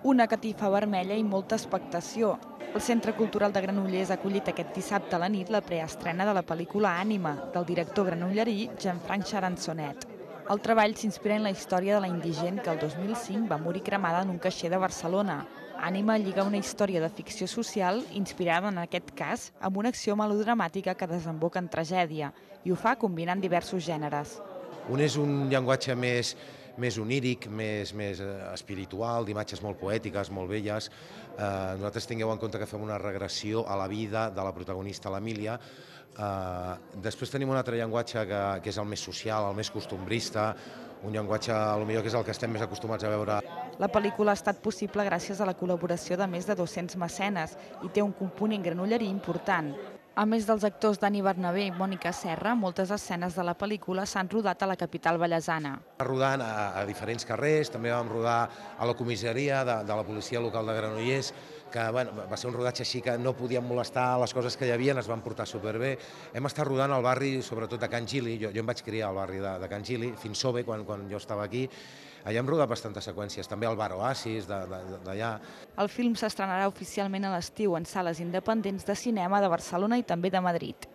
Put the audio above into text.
Una catifa vermella i molta expectació. El Centre Cultural de Granollers ha acollit aquest dissabte a la nit la preestrena de la pel·lícula Ànima, del director granollerí Jean-Franck Charançonnet. El treball s'inspira en la història de la indigent que el 2005 va morir cremada en un caixer de Barcelona. Ànima lliga una història de ficció social inspirada en aquest cas amb una acció melodramàtica que desemboca en tragèdia i ho fa combinant diversos gèneres. Un és un llenguatge més oníric, més espiritual, d'imatges molt poètiques, molt belles. Nosaltres tingueu en compte que fem una regressió a la vida de la protagonista, l'Emília. Després tenim un altre llenguatge que és el més social, el més costumbrista, un llenguatge potser que és el que estem més acostumats a veure. La pel·lícula ha estat possible gràcies a la col·laboració de més de 200 mecenes i té un component granollerí important. A més dels actors Dani Bernabé i Mònica Serra, moltes escenes de la pel·lícula s'han rodat a la capital vallesana. Rodant a diferents carrers, també vam rodar a la comissaria de la policia local de Granollers, que va ser un rodatge així que no podíem molestar les coses que hi havia, es van portar superbé. Hem estat rodant al barri, sobretot de Can Gili, jo em vaig criar al barri de Can Gili, fins Sove, quan jo estava aquí. Allà hem rodat bastantes seqüències, també al bar Oasis d'allà. El film s'estrenarà oficialment a l'estiu en sales independents de cinema de Barcelona i també de Madrid.